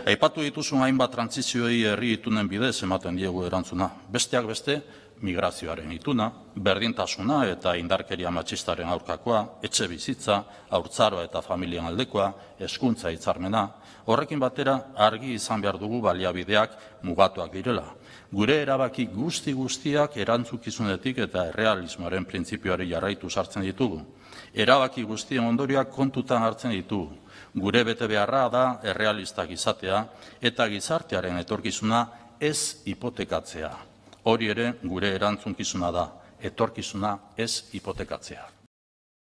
Aipatu dituzun hainbat trantsizioei herri itunen bidez ematen diegu erantzuna. Besteak beste, migrazioaren ituna, berdintasuna eta indarkeria matxistaren aurkakoa, etxe bizitza, haurtzaroa eta familien aldekoa, hezkuntza hitzarmena. Horrekin batera argi izan behar dugu baliabideak mugatuak direla. Gure erabaki guztiak erantzukizunetik eta errealismoaren printzipioari jarraitu sartzen ditugu. Erabaki guztien ondorioak kontutan hartzen ditugu. Gure betebeharra da errealistak izatea eta gizartearen etorkizuna ez hipotekatzea. Hori ere gure erantzunkizuna da, etorkizuna ez hipotekatzea.